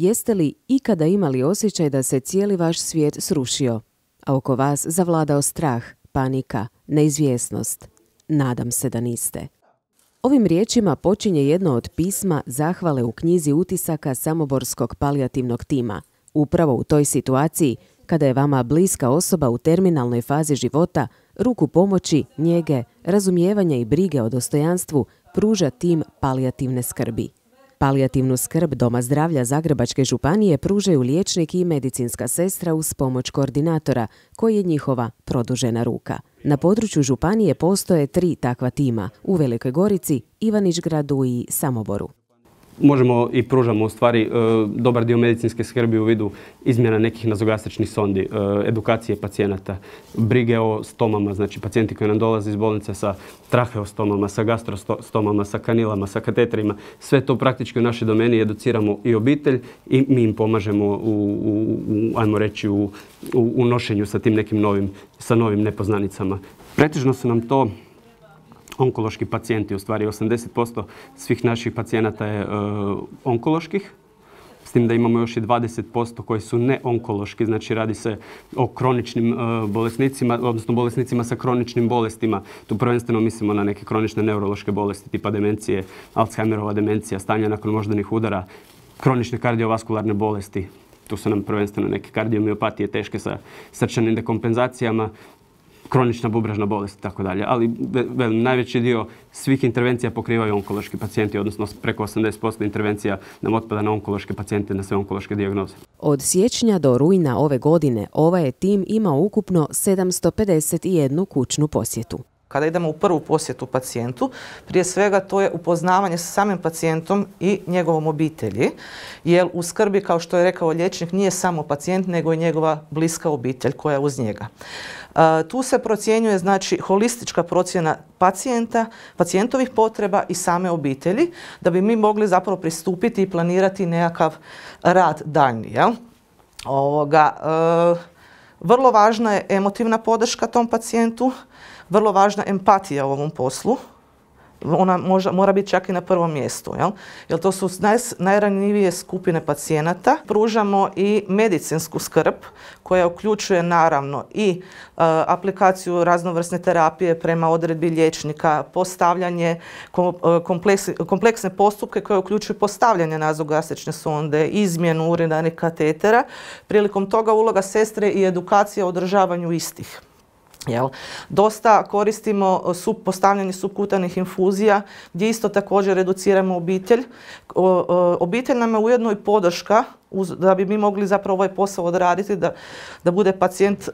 Jeste li ikada imali osjećaj da se cijeli vaš svijet srušio, a oko vas zavladao strah, panika, neizvjesnost? Nadam se da niste. Ovim riječima počinje jedno od pisma zahvale u knjizi utisaka samoborskog palijativnog tima. Upravo u toj situaciji, kada je vama bliska osoba u terminalnoj fazi života, ruku pomoći, njege, razumijevanja i brige o dostojanstvu pruža tim palijativne skrbi. Palijativnu skrb Doma zdravlja Zagrebačke županije pružaju liječnik i medicinska sestra uz pomoć koordinatora, koji je njihova produžena ruka. Na području županije postoje 3 takva tima, u Velikoj Gorici, Ivanić-Gradu i Samoboru. Možemo i pružamo u stvari dobar dio medicinske skrbi u vidu izmjena nekih nazogastričnih sondi, edukacije pacijenata, brige o stomama, znači pacijenti koji nam dolaze iz bolnice sa traheostomama, sa gastrostomama, sa kanilama, sa kateterima, sve to praktički u našoj domeni educiramo i obitelj i mi im pomažemo ajmo reći, u nošenju sa tim nekim novim nepoznanicama. Pretežno su nam to onkološki pacijenti, u stvari 80% svih naših pacijenata je onkoloških, s tim da imamo još i 20% koji su neonkološki, znači radi se o kroničnim bolesnicima, odnosno bolesnicima sa kroničnim bolestima. Tu prvenstveno mislimo na neke kronične neurološke bolesti tipa demencije, Alzheimerova demencija, stanja nakon moždanih udara, kronične kardiovaskularne bolesti. Tu su nam prvenstveno neke kardiomiopatije teške sa srčanim dekompenzacijama, kronična bubražna bolest i tako dalje. Ali najveći dio svih intervencija pokrivaju onkološki pacijenti, odnosno preko 80% intervencija nam otpada na onkološke pacijente, na sve onkološke dijagnoze. Od siječnja do rujna ove godine ovaj je tim imao ukupno 751 kućnu posjetu. Kada idemo u prvu posjetu pacijentu, prije svega to je upoznavanje sa samim pacijentom i njegovom obitelji, jer u skrbi, kao što je rekao liječnik, nije samo pacijent, nego i njegova bliska obitelj koja je uz njega. Tu se procjenjuje, znači, holistička procjena pacijentovih potreba i same obitelji, da bi mi mogli zapravo pristupiti i planirati nekakav rad daljnji. Vrlo važna je emotivna podrška tom pacijentu, vrlo važna empatija u ovom poslu. Ona mora biti čak i na prvom mjestu, jer to su najranjivije skupine pacijenata. Pružamo i medicinsku skrb koja uključuje naravno i aplikaciju raznovrsne terapije prema odredbi liječnika, postavljanje kompleksne postupke koje uključuju postavljanje nazogastrične sonde, izmjenu urinarnih katetera. Prilikom toga uloga sestre i edukacija o održavanju istih. Dosta koristimo postavljanje subkutanih infuzija gdje isto također educiramo obitelj. Obitelj nam je ujedno i podrška da bi mi mogli zapravo ovaj posao odraditi, da bude pacijent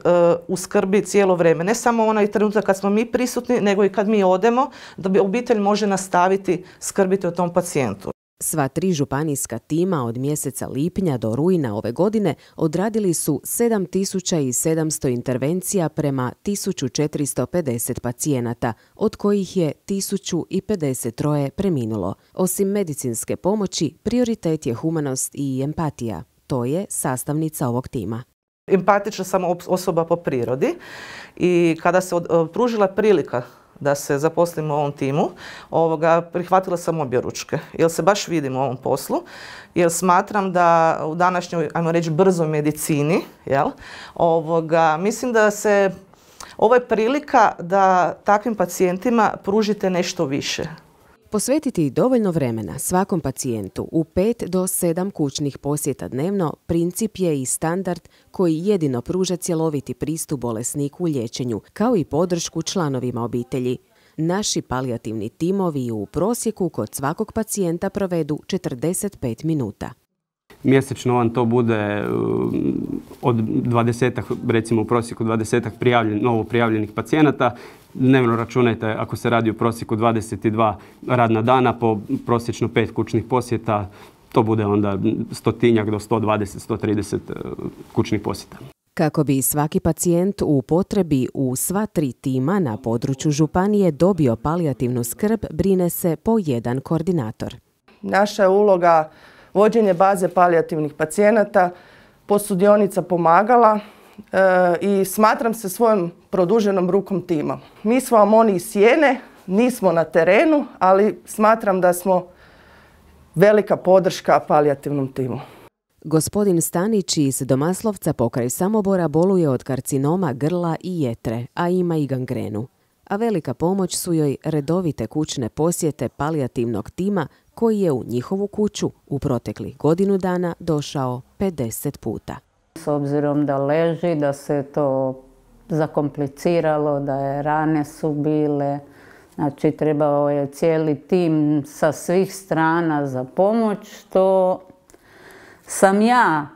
u skrbi cijelo vrijeme. Ne samo onaj trenutak kad smo mi prisutni, nego i kad mi odemo, da bi obitelj može nastaviti skrbiti o tom pacijentu. Sva 3 županijska tima od mjeseca lipnja do rujna ove godine odradili su 7700 intervencija prema 1450 pacijenata, od kojih je 1053 preminulo. Osim medicinske pomoći, prioritet je humanost i empatija. To je sastavnica ovog tima. Empatična sam osoba po prirodi i kada se pružila prilika da se zaposlim u ovom timu, prihvatila sam objeručke, jer se baš vidim u ovom poslu, jer smatram da u današnjoj, ajmo reći, brzoj medicini, mislim da ovo je prilika da takvim pacijentima pružite nešto više. Posvetiti dovoljno vremena svakom pacijentu u 5 do 7 kućnih posjeta dnevno princip je i standard koji jedino pruža cjeloviti pristup bolesniku u liječenju, kao i podršku članovima obitelji. Naši palijativni timovi u prosjeku kod svakog pacijenta provedu 45 minuta. Mjesečno vam to bude od 20-ak, recimo u prosjeku 20-ak novo prijavljenih pacijenata. Dnevno računajte, ako se radi u prosjeku 22 radna dana po prosječno 5 kućnih posjeta, to bude onda 100-tinjak do 120-130 kućnih posjeta. Kako bi svaki pacijent u potrebi u sva 3 tima na području županije dobio palijativnu skrb, brine se po jedan koordinator. Naša je uloga vođenje baze palijativnih pacijenata, posudionica pomagala i smatram se svojom produženom rukom tima. Mi smo vam oni iz sjene, nismo na terenu, ali smatram da smo velika podrška palijativnom timu. Gospodin Stanić iz Domaslovca pokraj Samobora boluje od karcinoma grla i jetre, a ima i gangrenu. A velika pomoć su joj redovite kućne posjete palijativnog tima koji je u njihovu kuću u proteklih godinu dana došao 50 puta. S obzirom da leži, da se to zakompliciralo, da je rane su bile, znači trebao je cijeli tim sa svih strana za pomoć, što sam ja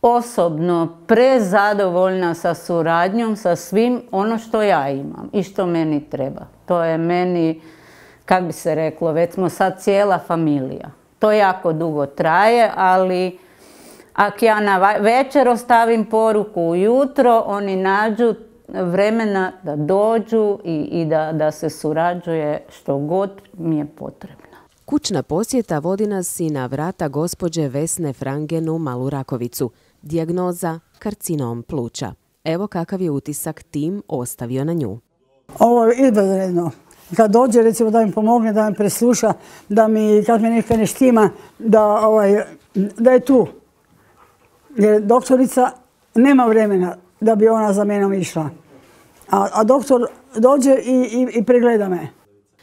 osobno prezadovoljna sa suradnjom, sa svim ono što ja imam i što meni treba. To je meni, kak bi se reklo, već smo sad cijela familija. To jako dugo traje, ali ako ja na večer ostavim poruku ujutro, oni nađu vremena da dođu i da se surađuje što god mi je potrebno. Kućna posjeta vodi nas i na vrata gospođe Vesne Frangen u Malu Rakovicu. Dijagnoza karcinom pluća. Evo kakav je utisak tim ostavio na nju. Ovo je izvanredno. Kad dođe, recimo, da mi pomogne, da mi presluša, kad mi nekaj ne štima, da je tu. Jer doktorica nema vremena da bi ona za menom išla. A doktor dođe i pregleda me.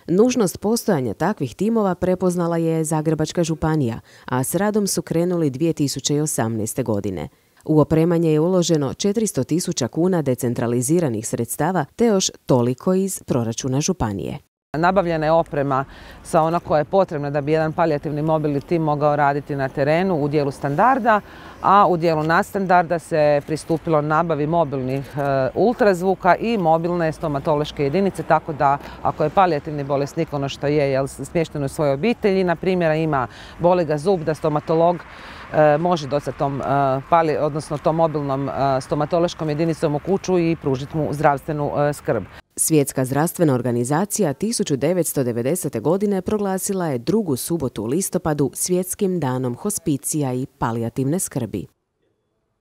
Nužnost postojanja takvih timova prepoznala je Zagrebačka županija, a s radom su krenuli 2018. godine. U opremanje je uloženo 400.000 kuna decentraliziranih sredstava te još toliko iz proračuna županije. Nabavljena je oprema sa ona koja je potrebna da bi jedan palijativni mobilni tim mogao raditi na terenu u dijelu standarda, a u dijelu nadstandarda se pristupilo nabavi mobilnih ultrazvuka i mobilne stomatološke jedinice, tako da ako je palijativni bolesnik ono što je smješten u svojoj obitelji, na primjer ima boli ga zub, da stomatolog može doći tom mobilnom stomatološkom jedinicom u kuću i pružiti mu zdravstvenu skrb. Svjetska zdravstvena organizacija 1990. godine proglasila je drugu subotu u listopadu Svjetskim danom hospicija i palijativne skrbi.